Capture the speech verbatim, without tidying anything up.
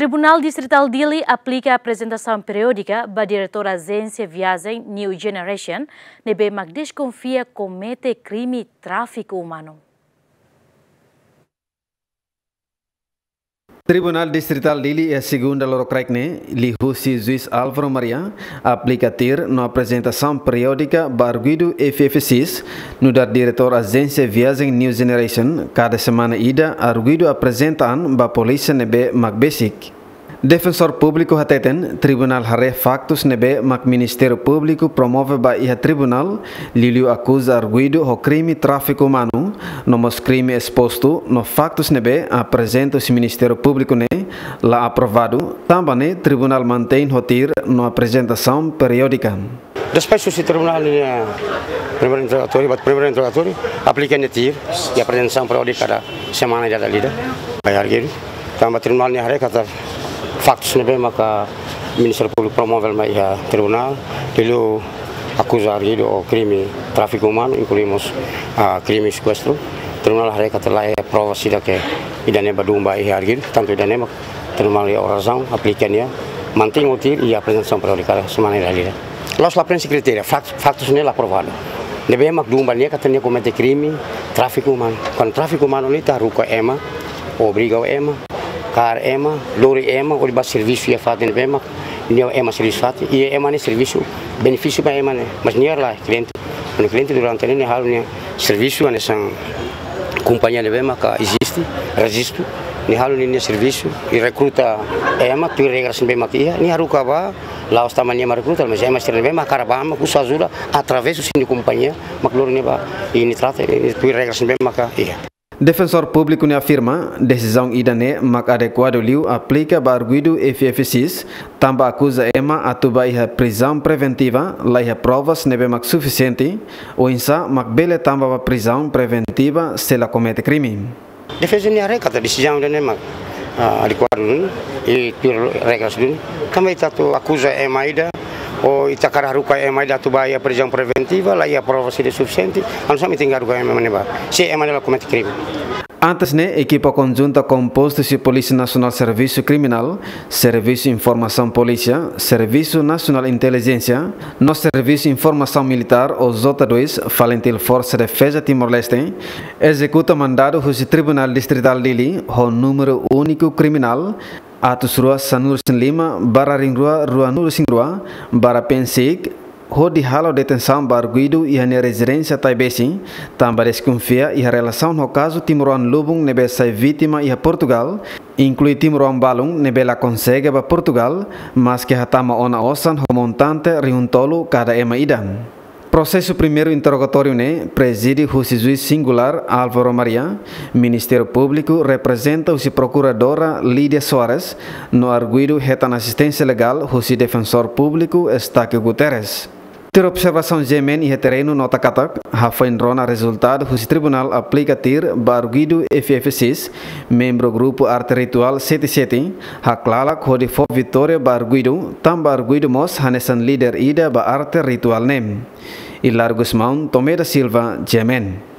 Tribunál Distritál Dili aplika aprezentasaun periódika ba diretór Ajénsia Viajen New Generation ne'ebé mak deskonfia komete krime tráfiku umanu. Tribunál Distritál Dili iha segunda lorokraik ne'e, liuhusi juís Álvaro Maria, aplika tuir no aprezentasaun periódika ba arguidu F F X, nu'udar diretór Ajénsia Viajen New Generation, kada semana ida arguidu aprezenta an ba polísia ne'ebé mak besik. Defensór Públiku hateten, tribunál haree faktus ne'ebé mak Ministériu Públiku promove ba iha tribunál, liuliu akuza arguidu ho krime tráfiku umanu, no mós krime espostu, no faktus ne'ebé aprezenta husi Ministériu Públiku ne'e la aprovadu, tanba ne'e tribunál mantein hotu no aprezentasaun periódika. Despois husi tribunál nia primeiru interrogatóriu, ba primeiru interrogatóriu, aplika nia tuir, i aprezentasaun periódika kada semana ida dala ida. Ba arguidu. Tanba tribunál nia haree katak faktus ne'ebé maka Ministériu Públiku promove mai iha tribunál, liuliu akuza arguidu ho krime tráfiku umanu, inklui mós, ah, krime sekuestru. Tribunál haree katak laiha provas ida ke ida-ne'e ba dún ba iha arguidu, tantu ida-ne'e mak tribunál iha razaun, aplika nia, mantein hotu i aprezentasaun periódika semana ida dala ida. La'ós la preenxe kritéria, fak-, faktus ne'e la aprovadu. Ne'ebé mak dún ba nia katak nia komete krime tráfiku umanu. Kuandu tráfiku umanu ne'e ita haruka ema, obriga ema, kaer ema, lori ema, hodi ba servisu iha fatin ne'ebé mak nia ema servisu fatin, i ema ne'e servisu benefísiu ba ema ne'e. Mas nia la kliente, kuandu kliente durante ne'e nia halo nia servisu hanesan kompañia ne'ebé maka eziste, rejistu, nia halo nia, nia servisu, i rekruta ema tuir regras ne'ebé maka iha, nia haruka ba, la'ós tanba nia mak rekruta, mas ema sira ne'ebé mak hakarak ba mak husu ajuda através husi nia kompañia, mak lori nia ba, i nia trata, i tuir regras ne'ebé maka iha. Defensór Públiku ne'e afirma, desizaun ida-ne'e mak adekuadu liu aplika ba arguidu F F X, tanba akuza ema atu ba iha prizaun preventiva, laiha provas ne'ebé mak sufisiente, oinsá mak bele tama ba prizaun preventiva se la komete krime. Defeza nia haree katak desizaun ida-ne'e mak, ah, adekuadu duni, i tuir regras duni. Tanba ita atu akuza ema ida, ou ita hakarak haruka ema ida atu ba iha prizaun preventiva, laiha provas ida sufisiente, entaun ami tenke haruka ema ne'ebá, se ema ne'e la komete krime. Antes ne'e, ekipa konjunta kompostu husi Polísia Nasionál Servisu Kriminál, Servisu Informasaun Polísia, Servisu Nasionál Intelijénsia, no Servisu Informasaun Militár ou J dois, FALINTIL Forsa Defeza Timor-Leste, ezekuta mandadu husi Tribunál Distritál Dili ho númeru úniku kriminál atus rua sanulu-resin-lima barra rihun rua ruanulu-resin-rua barra P N C, hodi halo detensaun ba arguidu iha nia rezidénsia Taibesi, tanba deskonfia iha relasaun ho kazu timoroan lubun ne'ebé sai vítima iha Portugál, inklui timoroan balun ne'ebé la konsege ba Portugál, maske hatama ona osan ho montante rihun tolu kada ema ida. Prosesu primeiru interrogatóriu ne'e prezide husi juís singulár Álvaro Maria, Ministériu Públiku reprezenta husi Prokuradora Lídia Soares, no arguidu hetan asisténsia legál husi Defensór Públiku Eustáquio Guterres. Tuir observasaun G M N iha terrenu nota katak, hafoin rona rezultadu husi tribunál aplika tuir ba arguidu F F X, membru grupu arte rituál sete sete, haklalak hodi fó vitória ba arguidu, tanba arguidu mós hanesan líder ida ba arte rituál ne'e. Hilario Gusmão, Tomé da Silva, G M N.